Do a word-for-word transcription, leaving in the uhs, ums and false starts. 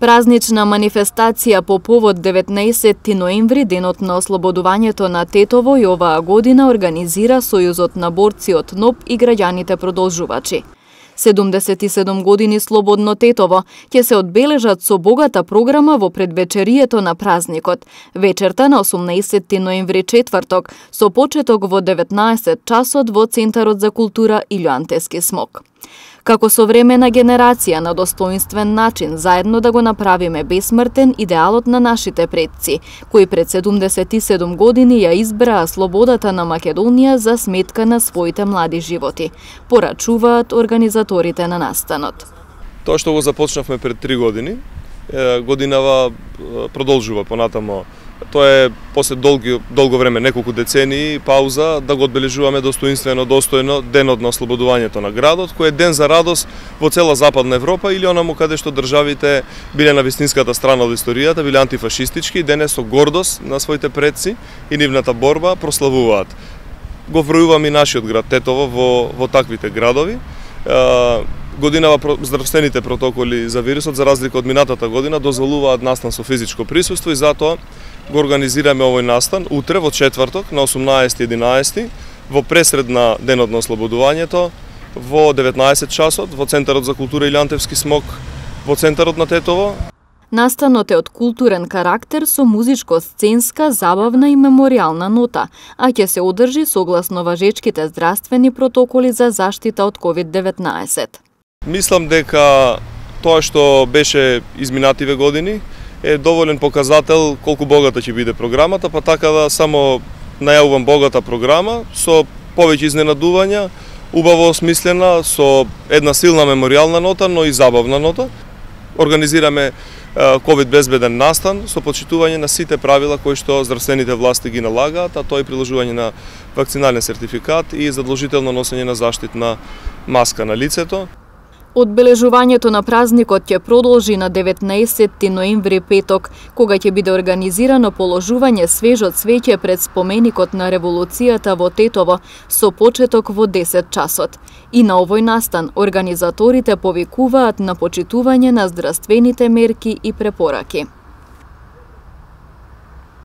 Празнична манифестација по повод деветнаесетти ноември, денот на ослободувањето на Тетово, и оваа година организира Сојузот на борци од НОБ и граѓаните продолжувачи. седумдесет и седум години слободно Тетово ќе се одбележат со богата програма во предвечерието на празникот, вечерта на осумнаесетти ноември, четврток, со почеток во деветнаесет часот во Центарот за култура Илјоантески смок. Како современа генерација на достоинствен начин заедно да го направиме бесмртен идеалот на нашите предци, кои пред седумдесет и седум години ја избраа слободата на Македонија за сметка на своите млади животи, порачуваат организаторите на настанот. Тоа што го започнавме пред три години, годинава продолжува понатамо. Тоа е после долги, долго време, неколку децении, пауза, да го одбележуваме достоинствено, достојно денот на ослободувањето на градот, кој е ден за радост во цела Западна Европа или онаму каде што државите биле на вистинската страна од историјата, биле антифашистички и денес со гордост на своите предци и нивната борба прославуваат. Го вројуваме и нашиот град Тетово во, во таквите градови. Годинава здравствените протоколи за вирусот, за разлика од минатата година, дозволуваат настан со физичко присуство и затоа го организираме овој настан утре во четврток на осумнаесети единаесети во пресред на денот на ослободувањето во деветнаесет часот во Центарот за култура Илјоантевски смок во центарот на Тетово. Настанот е од културен карактер со музичко-сценска, забавна и меморијална нота, а ќе се одржи согласно важечките здравствени протоколи за заштита од ковид деветнаесет. Мислам дека тоа што беше изминативе години е доволен показател колку богата ќе биде програмата, па така да само најавувам богата програма со повеќе изненадувања, убаво осмислена, со една силна меморијална нота, но и забавна нота. Организираме ковид безбеден настан со почитување на сите правила кои што здравствените власти ги налагаат, а тоа е приложување на вакцинален сертификат и задолжително носење на заштитна маска на лицето. Одбележувањето на празникот ќе продолжи на деветнаесетти ноември, петок, кога ќе биде организирано положување свежо цвеќе пред споменикот на револуцијата во Тетово со почеток во десет часот. И на овој настан организаторите повикуваат на почитување на здравствените мерки и препораки.